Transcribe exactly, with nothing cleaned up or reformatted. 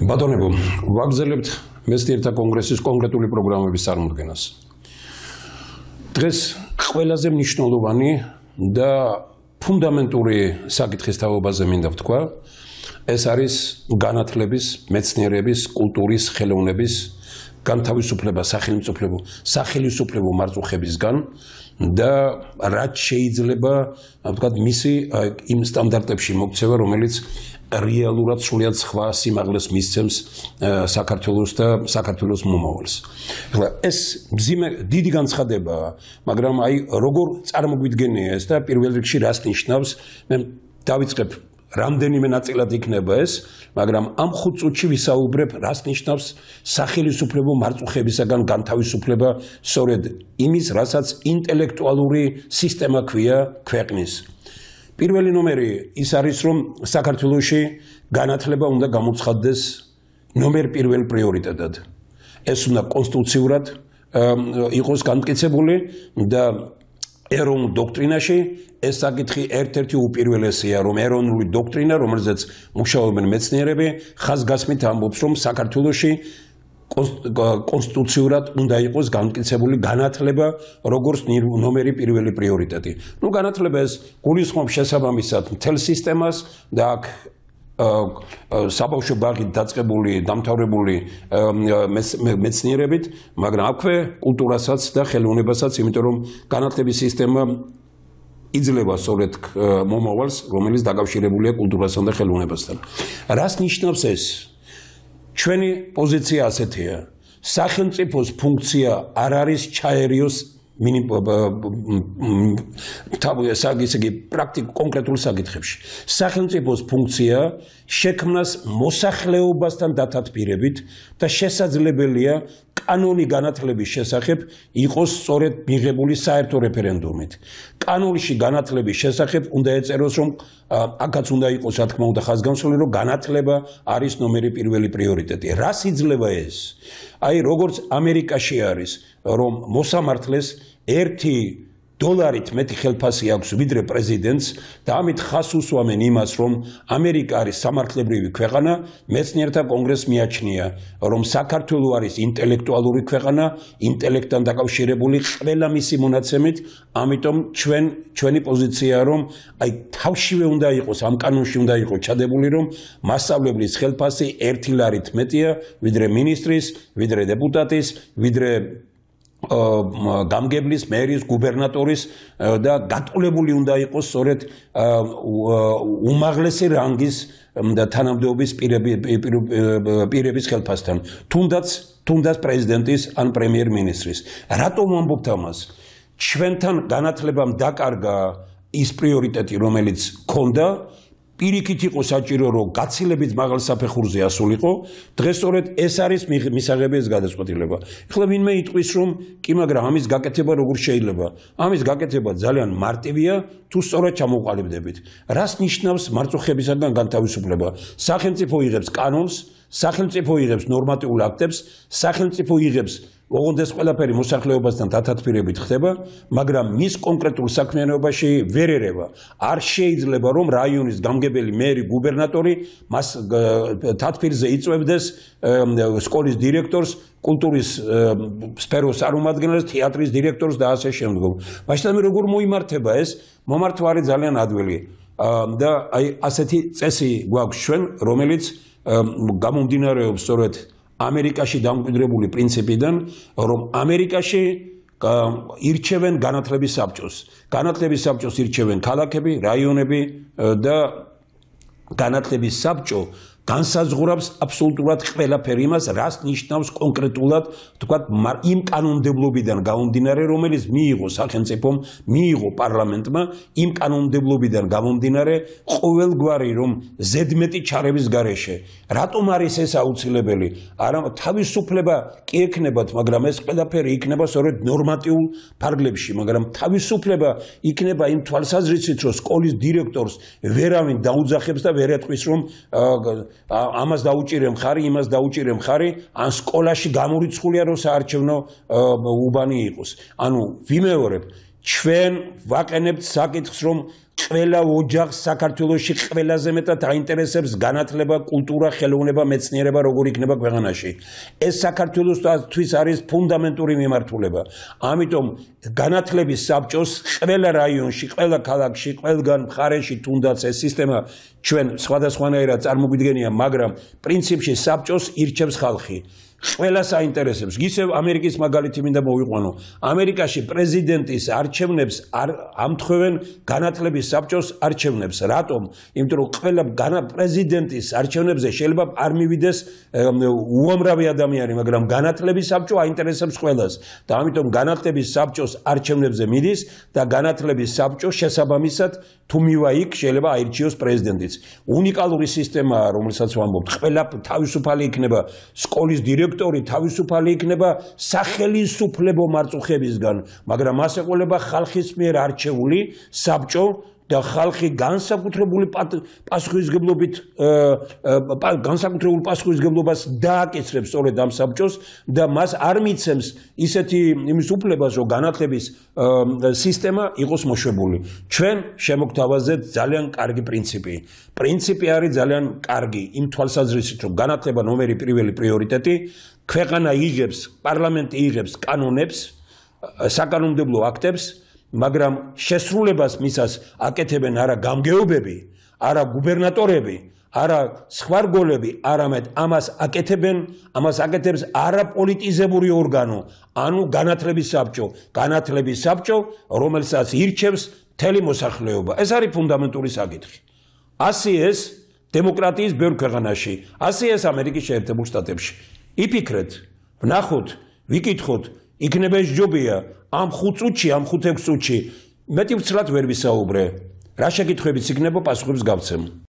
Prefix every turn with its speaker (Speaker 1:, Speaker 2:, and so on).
Speaker 1: ბატონებო, ვაგრძელებთ მეცნიერთა კონგრესის კონკრეტული პროგრამების წარმოდგენას. დღეს ყველაზე მნიშვნელოვანი და ფუნდამენტური საკითხის თაობაზე მინდა ვთქვა, ეს არის განათლების, მეცნიერების, კულტურის, ხელოვნების განთავისუფლება სახელმწიფო სახელმწიფო მარწუხებისგან და რაც შეიძლება, ვთქვათ, მისი იმ სტანდარტებში მოქცევა, რომელიც რეალურად სრულიად სხვა სიმაღლეს მისცემს საქართველოს და საქართველოს მომავალს. ახლა ეს მძიმე დიდი განცხადებაა, მაგრამ აი როგორ წარმოგვიდგენია ეს და პირველ რიგში რას ნიშნავს, მე დავიწყებ რამდენიმე ნაწილად იქნება ეს, მაგრამ ამ ხუთ წუთში ვისაუბრებ რას ნიშნავს სახელმწიფო მარწუხებისაგან განთავისუფლება სწორედ იმის, რასაც ინტელექტუალური სისტემა ქვია ქვეყნის. პირველი ნომერი ის არის, რომ საქართველოში განათლება უნდა გამოცხადდეს ნომერ პირველ პრიორიტეტად. ეს უნდა კონსტიტუციურად იყოს განმტკიცებული და ეროვნულ დოქტრინაში ეს საკითხი ერთ-ერთი უპირველესია, რომ ეროვნული დოქტრინა, რომელზეც მუშაობენ მეცნიერები, ხაზგასმით ამბობს, რომ საქართველოში კონსტიტუციურად უნდა იყოს განმტკიცებული განათლება, როგორც ნომერი პირველი პრიორიტეტი. ნუ განათლება ეს გულისხმობს შესაბამისად მთელ სისტემას და აქ საბავშვო ბაღით დაწყებული, დამთავრებული მეცნიერებით, მაგრამ აქვე კულტურასაც და ხელოვნებასაც, იმიტომ რომ განათლების სისტემა იძლევა სწორედ მომავალს, რომელიც დაკავშირებულია კულტურასთან და ხელოვნებასთან. რას ნიშნავს ეს? ჩვენი პოზიცია ასეთია. სახელმწიფოს ფუნქცია არ არის ჩაერიოს პრაქტიკულ კონკრეტულ საკითხებში. სახელმწიფოს ფუნქცია შექმნას მოსახლეობასთან დათათბირებით და შესაძლებელია კანონი განათლების შესახებ იყოს სწორედ მიღებული საერთო რეფერენდუმით. კანონში განათლების შესახებ უნდა ეწეროს, რომ აქაც უნდა იყოს, რა თქმა უნდა, ხაზგასმული, რომ განათლება არის ნომერი პირველი პრიორიტეტი. რას იძლევა ეს? აი, როგორც ამერიკაში არის, რომ მოსამართლეს ერთი დოლარით მეტი ხელფასი აქვს ვიდრე პრეზიდენტს და ამით ხას უსვამენ იმას, რომ ამერიკა არის სამართლებრივი ქვეყანა, მეცნიერთა კონგრესს მიაჩნია, რომ საქართველო არის ინტელექტუალური ქვეყანა, ინტელექტთან დაკავშირებული ყველა მისი მონაცემით, ამიტომ ჩვენ ჩვენი პოზიციაა, რომ აი თავშივე უნდა იყოს, ამ კანონში უნდა იყოს ჩადებული, რომ მასწავლებლის ხელფასი ერთი ლარით მეტია ვიდრე მინისტრის, ვიდრე დეპუტატის, ვიდრე გამგებლის, მერის, გუბერნატორის და გატოლებული უნდა იყოს სწორედ უმაღლესი რანგის და თანამდებობის პირების ხელფასთან. თუნდაც თუნდაც პრეზიდენტის ან პრემიერ-მინისტრის. რატომ ვამბობთ ამას? ჩვენთან განათლებამ დაკარგა ის პრიორიტეტი, რომელიც ჰქონდა, პირიქით იყო საჭირო, რომ გაცილებით მაღალ საფეხურზე ასულიყო, დღეს სწორედ ეს არის მისაღები ეს გადაწყვეტილება. ეხლა ვინმე იტყვის, რომ კი, მაგრამ ამის გაკეთება როგორ შეიძლება? ამის გაკეთება ძალიან მარტივია, თუ სწორად ჩამოყალიბდებით. რას ნიშნავს მარწუხებისაგან განთავისუფლება? სახელმწიფო იღებს კანონს, სახელმწიფო იღებს ნორმატიულ აქტებს, სახელმწიფო იღებს ოღონდ ეს ყველაფერი მოსახლეობასთან დათათბირებით ხდება, მაგრამ მის კონკრეტულ საქმიანობაში ვერ ერევა. არ შეიძლება, რომ რაიონის გამგებელი, მერი, გუბერნატორი მას თათბირზე იწვევდეს სკოლის დირექტორს, კულტურის სფეროს წარმომადგენელს, თეატრის დირექტორს და ასე შემდგომ. მაშინ როგორ მოიმართება ეს? მომართვა არის ძალიან ადვილი. და აი ასეთი წესი გვაქვს ჩვენ, რომელიც გამომდინარეობს სწორედ ამერიკაში დამკვიდრებული პრინციპიდან, რომ ამერიკაში ირჩევენ განათლების საბჭოს. განათლების საბჭოს ირჩევენ ქალაქები, რაიონები და განათლების საბჭო განსაზღვრავს აბსოლუტურად ყველაფერი იმას, რას ნიშნავს კონკრეტულად, თქვათ, იმ კანონმდებლობიდან გამომდინარე, რომელიც მიიღო სახელმწიფომ, მიიღო პარლამენტმა, იმ კანონმდებლობიდან გამომდინარე, ყოველგვარი რომ ზედმეტი ჩარების გარეშე. რატომ არის ეს აუცილებელი? არა, თავისუფლება კი ექნებათ, მაგრამ ეს ყველაფერი იქნება სწორედ ნორმატიულ ფარგლებში, მაგრამ თავისუფლება იქნება იმ თვალსაზრისით, რომ სკოლის დირექტორს ვერავინ დაუძახებს და ვერ ეტყვის, რომ ამას დაუჭირე მხარი, იმას დაუჭირე მხარი, ან სკოლაში გამორიცხულია, რომ საარჩევნო უბანი იყოს. ანუ ვიმეორებ, ჩვენ ვაყენებთ საკითხს, რომ ყველა ოჯახს საქართველოში ყველაზე მეტად აინტერესებს განათლება, კულტურა, ხელოვნება, მეცნიერება, როგორ იქნება ქვეყანაში. ეს საქართველოსთვის არის ფუნდამენტური მიმართულება. ამიტომ განათლების საბჭოს ყველა რაიონში, ყველა ქალაქში, ყველგან მხარეში თუნდაც ეს სისტემა ჩვენ სხვადასხვანაირად წარმოგვიდგენია, მაგრამ პრინციპში საბჭოს ირჩევს ხალხი. ყველას აინტერესებს. ისევ ამერიკის მაგალითი მინდა მოვიყვანო. ამერიკაში პრეზიდენტის არჩევნებს ამთხოვენ განათლების საბჭოს არჩევნებს. რატომ? იმიტომ რომ ყველა პრეზიდენტის არჩევნებზე შეიძლება არ მივიდეს უამრავი ადამიანი, მაგრამ განათლების საბჭო აინტერესებს ყველას. და ამიტომ განათლების საბჭოს არჩევნებზე მიდის და განათლების საბჭო შესაბამისად თუ მივა იქ შეიძლება აირჩიოს პრეზიდენტიც. უნიკალური სისტემაა, რომელსაც ვამბობთ. ყველა თავისუფალი იქნება სკოლის დირექტორი, თავისუფალი იქნება სახელისუფლებო მარწუხებისგან, მაგრამ მას ეყოლება ხალხის მიერ არჩეული საბჭო და ხალხი განსაკუთრებული პასუხისმგებლობით განსაკუთრებულ პასუხისმგებლობას დააკისრებს სწორედ ამ საბჭოს და მას არ მიცემს ისეთი იმის უფლებას, რომ განათლების სისტემა იყოს მოშვებული. ჩვენ შემოგთავაზეთ ძალიან კარგი პრინციპი. პრინციპი არის ძალიან კარგი იმ თვალსაზრისით, რომ განათლება ნომერი პირველი პრიორიტეტი, ქვეყანა იღებს, პარლამენტი იღებს კანონებს, საკანონმდებლო აქტებს, მაგრამ შესრულებას მისას აკეთებენ არა გამგეობები, არა გუბერნატორები, არა სხვა რგოლები, არამედ ამას აკეთებენ, ამას აკეთებს არაპოლიტიზებული ორგანო, ანუ განათლების საბჭო, განათლების საბჭო, რომელსაც ირჩევს მთელი მოსახლეობა. ეს არის ფუნდამენტური საკითხი. ასე ეს დემოკრატიის ბევრ ქვეყანაში, ასე ეს ამერიკის შეერთებულ შტატებში. იფიქრეთ, ვნახოთ, ვიკითხოთ, იქნება ეს ჯობია ამ ხუთ წუთში, ამ ხუთ ექვს წუთში მეტი ვცლად ვერ ვისაუბრე. რა შეკითხვებიც იქნება, პასუხებს გავცემ.